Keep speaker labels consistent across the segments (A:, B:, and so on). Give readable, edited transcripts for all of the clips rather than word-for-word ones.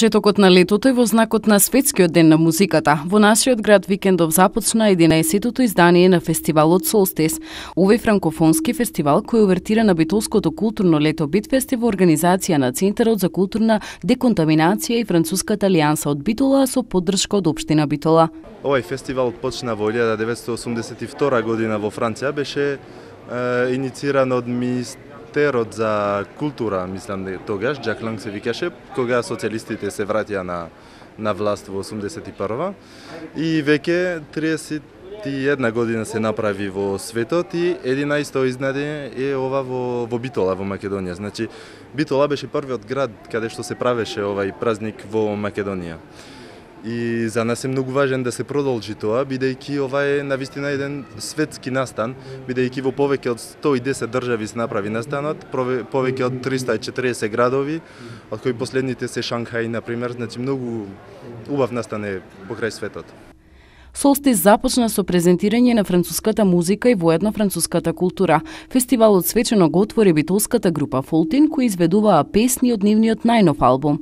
A: Почетокот на летото е во знакот на Светскиот ден на музиката. Во нашиот град викендов започна 11-тото издание на фестивалот Солстис. Овој франкофонски фестивал кој увертира на битолското културно лето Битфест е во организација на Центарот за културна деконтаминација и Француската алијанса од Битола со поддршка од општина Битола.
B: Овој фестивал почна во 1982 година во Франција, беше иницииран од Министерот за култура, мислам тогаш, Жак Ланг се викаше, кога социјалистите се враќаа на власт во 81-ва. И веќе 31 година се направи во светот и 11-то изнадење е ова во Битола, во Македонија. Значи, Битола беше првиот град каде што се правеше овај празник во Македонија. И за нас е многу важен да се продолжи тоа, бидејќи ова е навистина еден светски настан, бидејќи во повеќе од 110 држави се направи настанот, повеќе од 340 градови, од кои последните се Шанхај, например, значи многу убав настан е покрај светот.
A: Солстис започна со презентирање на француската музика и воедно француската култура. Фестивалот свечено го отвори битолската група Фолтин, кои изведуваа песни од нивниот најнов албум.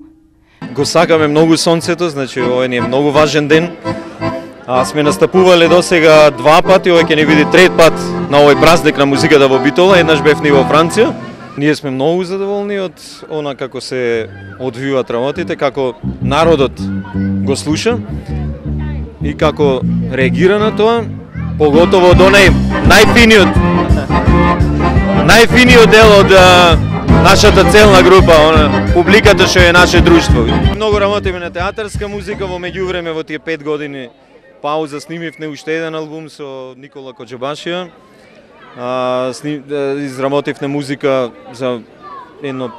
C: Го сакаме многу сонцето, значи овој ни е многу важен ден. Сме настапувале досега 2 пати, овој ќе ни биде 3 пат на овој празник на музиката во Битола, еднаш бевме во Франција. Ние сме многу задоволни од она како се одвиваат работите, како народот го слуша и како реагира на тоа, поготово од онај најфиниот дел од нашата целна група, публиката што е наше друштво. Многу работиме на театарска музика, во меѓувреме во тие 5 години пауза снимивме уште еден албум со Никола Коџабашија. Изработивме музика за едно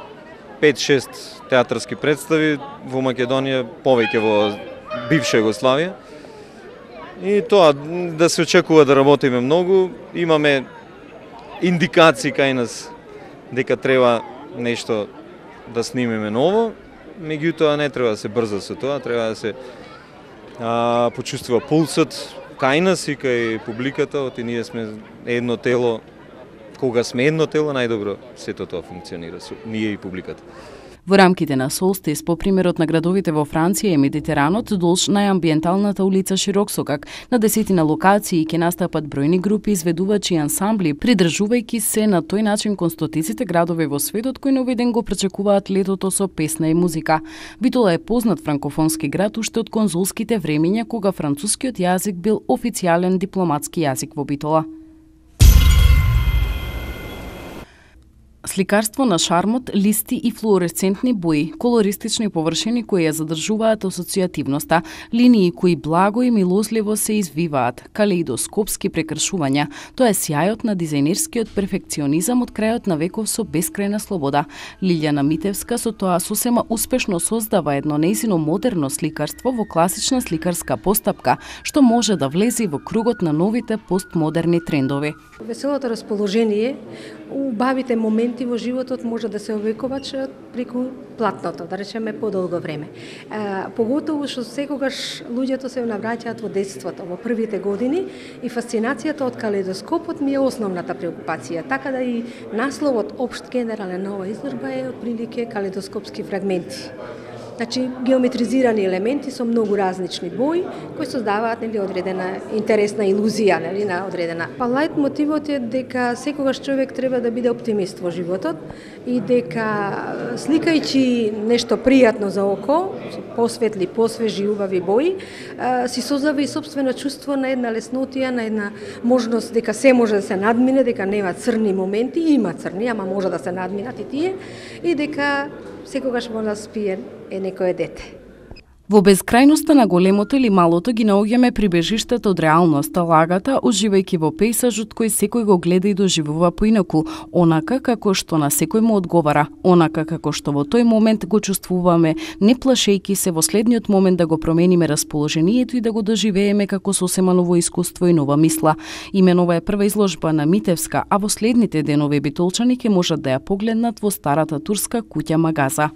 C: 5-6 театарски представи во Македонија, повеќе во бивша Југославија. И тоа да се очекува да работиме многу, имаме индикации кај нас дека треба нешто да снимеме ново, меѓутоа не треба да се брза со тоа, треба да се почувствува пулсот кај нас и кај публиката, оти ние сме едно тело, кога сме едно тело, најдобро сето тоа функционира, ние и публиката.
A: Во рамките на Солстис, по примерот на градовите во Франција и Медитеранот, долж најамбиенталната улица Широксокак, на 10 локации ќе настапат бројни групи, изведувачи и ансамбли, придржувајќи се на тој начин констотиците градови во светот кои на овој ден го пречекуваат летото со песна и музика. Битола е познат франкофонски град уште од конзулските времиња, кога францускиот јазик бил официјален дипломатски јазик во Битола. Сликарство на шармот, листи и флуоресцентни бои, колористични површини кои ја задржуваат асоцијативноста, линии кои благо и милозливо се извиваат, калеидоскопски прекршувања. Тоа е сјајот на дизајнерскиот перфекционизам од крајот на веков со бескрајна слобода. Лилјана Митевска со тоа сосема успешно создава едно нејзино модерно сликарство во класична сликарска постапка, што може да влезе во кругот на новите постмодерни трендови.
D: Веселото расположение, убавите моменти во животот може да се овековат преку платното, да речеме подолго време. Поготово што секогаш луѓето се навраќаат во детството, во првите години и фасцинацијата од калеидоскопот ми е основната преокупација. Така да и насловот општ генерален на оваа изложба е отприлике калеидоскопски фрагменти. Значи, геометризирани елементи со многу различни бои, кои создаваат одредена интересна илузија, на одредена. Лајт мотивот е дека секогаш човек треба да биде оптимист во животот и дека сликајќи нешто пријатно за око, посветли, посвежи, убави бои, си создава и сопствено чувство на една леснотија, на една можност дека се може да се надмине, дека нема црни моменти, има црни, ама може да се надминат и тие, и дека секогаш може да спие некое дете.
A: Во безкрајноста на големото или малото ги наоѓаме прибежиштата од реалноста, лагата, уживајќи во пејзажот кој секој го гледа и доживува поинаку, онака како што на секој му одговара, онака како што во тој момент го чувствуваме, не плашејќи се во следниот момент да го промениме расположението и да го доживееме како сосема ново искуство и нова мисла. Имено ова е прва изложба на Митевска, а во следните денови битолчани ќе можат да ја погледнат во старата турска куќа Магаза.